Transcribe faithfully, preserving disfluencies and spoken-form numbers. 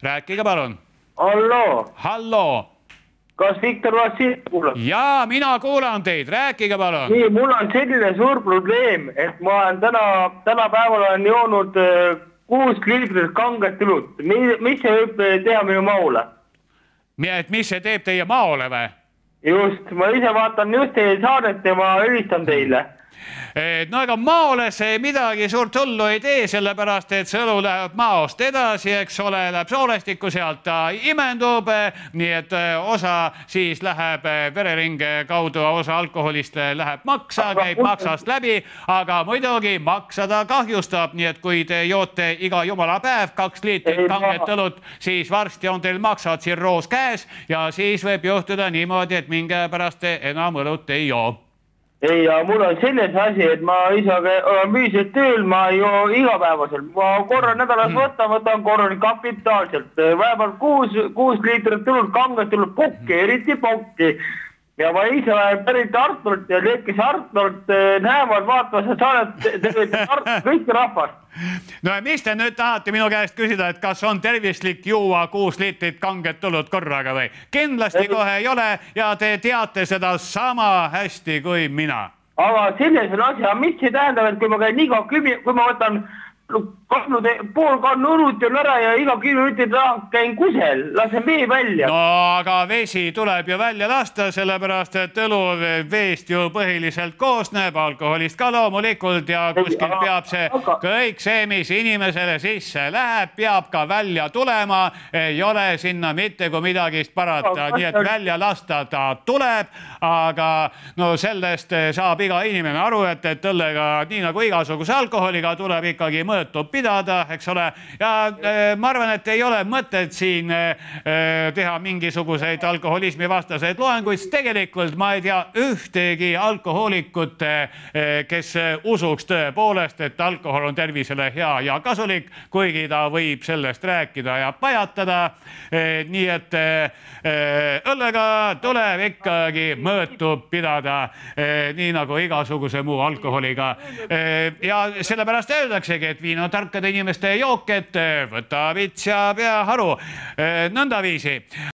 rääkige palun. Halloo. Halloo. Kas Viktor Vassiljev kuulab? Jaa, mina kuulan teid, rääkige palun. Nii, mul on selline suur probleem, et ma olen täna, täna päeval olen joonud kuus liitrit kanget õlut. Mis see võib teha minu maule? Et mis see teeb teie maole või? Just, ma ise vaatan just teie saadet ja ma ülistan teile. No ega maole see midagi suurt hullu ei tee, sellepärast et see õlu läheb maost edasi, eks ole, läheb soolestikku, sealt ta imendub, nii et osa siis läheb vereringe kaudu, osa alkoholist läheb maksa, käib maksast läbi, aga muidugi maksa ta kahjustab, nii et kui te joote iga jumala päev kaks liitrit kanget õlut, siis varsti on teil maksatsirroos käes ja siis võib juhtuda niimoodi, et mingi pärast te enam õlut ei joo. Ei, ja mul on selles asi, et ma ise olen müüselt tööl, ma ei joo igapäevaselt. Ma korra nädalas võtan, võtan korra kapitaalselt. Vähemalt kuus, kuus liitrit õlut kanget õlut pokki, eriti pokki. Ja ma ise olen pärit Artult ja need, kes Artult näevad, vaatavad, sa saadet kõik rahvast. No ja mis te nüüd tahate minu käest küsida, et kas on tervislik juua kuus liitrit kanget õlut korraga või? Kindlasti kohe ei ole ja te teate seda sama hästi kui mina. Aga selles on asi, mis see tähendab, et kui ma käin iga kümi, kui ma võtan kannu, pool kannu õlut on ära ja iga kümme minutit käin kusel, lasen vee välja. No aga vesi tuleb ju välja lasta, sellepärast et õlu veest ju põhiliselt koosneb, alkoholist ka loomulikult ja kuskil peab see kõik see, mis inimesele sisse läheb, peab ka välja tulema, ei ole sinna mitte kui midagist parata, nii et välja lasta ta tuleb, aga no sellest saab iga inimene aru, et, et õllega, nii nagu igasuguse alkoholiga, tuleb ikkagi mõõta pidada, eks ole, ja äh, ma arvan, et ei ole mõtet siin äh, teha mingisuguseid alkoholismi vastaseid loenguid, tegelikult ma ei tea ühtegi alkohoolikut, äh, kes usuks tõepoolest, et alkohol on tervisele hea ja kasulik, kuigi ta võib sellest rääkida ja pajatada, äh, nii et äh, õllega tuleb ikkagi mõõtu pidada, äh, nii nagu igasuguse muu alkoholiga äh, ja sellepärast öeldaksegi, et viin on tarkade inimeste jook, et võta vits ja pea haru. Nõndaviisi.